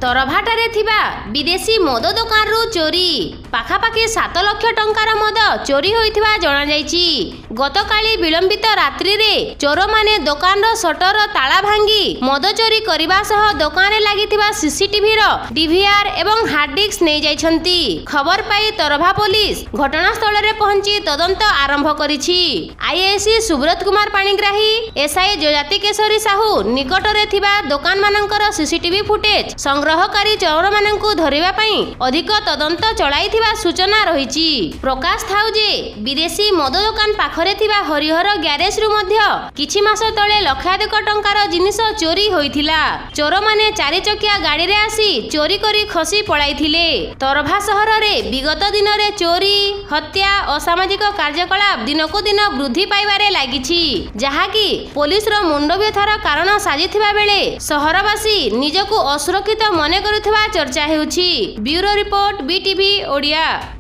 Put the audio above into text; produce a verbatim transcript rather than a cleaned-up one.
ତରଭାଠାରେ ଥିବା ବିଦେଶୀ ମଦ ଦୋକାନରୁ ଚୋରି। ପାଖାପାଖି ସାତ ଲକ୍ଷ ଟଙ୍କାର ମଦ ଚୋରି ହୋଇଥିବା ଜଣାଯାଇଛି। ଗତକାଲି ବିଳମ୍ବିତ ରାତ୍ରିରେ ଚୋରମାନେ ଦୋକାନର ସଟର ତାଳା ଭାଙ୍ଗି ମଦ ଚୋରି କରିବା ସହ ଦୋକାନରେ ଲାଗିଥିବା ସିସିଟିଭିର ଡିଭିଆର୍ ଏବଂ ହାର୍ଡଡିସ୍କ ନେଇଯାଇଛନ୍ତି। ଖବର ପାଇ ତରଭା ପୋଲିସ ଘଟଣାସ୍ଥଳରେ ପହଞ୍ଚି ତଦନ୍ତ ଆରମ୍ଭ କରିଛି। ଆଇଆଇସି ସୁବ୍ରତ କୁମାର ପାଣିଗ୍ରାହୀ, ଏସ୍ଆଇ ଯଯାତି କେଶରୀ ସାହୁ ନିକଟରେ ଥିବା ଦୋକାନମାନଙ୍କର ସିସିଟିଭି ଫୁଟେଜ ସଂଗ୍ରହ କରି ଚୋରମାନଙ୍କୁ ଧରିବା ପାଇଁ ଅଧିକ ତଦନ୍ତ ଚଳାଇଥିବା ସୂଚନା ରହିଛି। ପ୍ରକାଶ ଥାଉ ଯେ ବିଦେଶୀ ମଦ ଦୋକାନ ପାଖରେ ଥିବା ହରିହର ଗ୍ୟାରେଜରୁ ମଧ୍ୟ କିଛି ମାସ ତଳେ ଲକ୍ଷାଧିକ ଟଙ୍କାର ଜିନିଷ ଚୋରି ହୋଇଥିଲା। ଚୋରମାନେ ଚାରିଚକିଆ ଗାଡ଼ିରେ ଆସି ଚୋରି କରି ଖସି ପଳାଇଥିଲେ। ତରଭା ସହରରେ ବିଗତ ଦିନରେ ଚୋରି, ହତ୍ୟା, ଅସାମାଜିକ କାର୍ଯ୍ୟକଳାପ ଦିନକୁ ଦିନ ବୃଦ୍ଧି ପାଇବାରେ ଲାଗିଛି, ଯାହାକି ପୋଲିସର ମୁଣ୍ଡବ୍ୟଥାର କାରଣ ସାଜିଥିବା ବେଳେ ସହରବାସୀ ନିଜକୁ ଅସୁରକ୍ଷିତ ମନେ କରୁଥିବା ଚର୍ଚ୍ଚା ହେଉଛି। Bureau report, BTV Odia.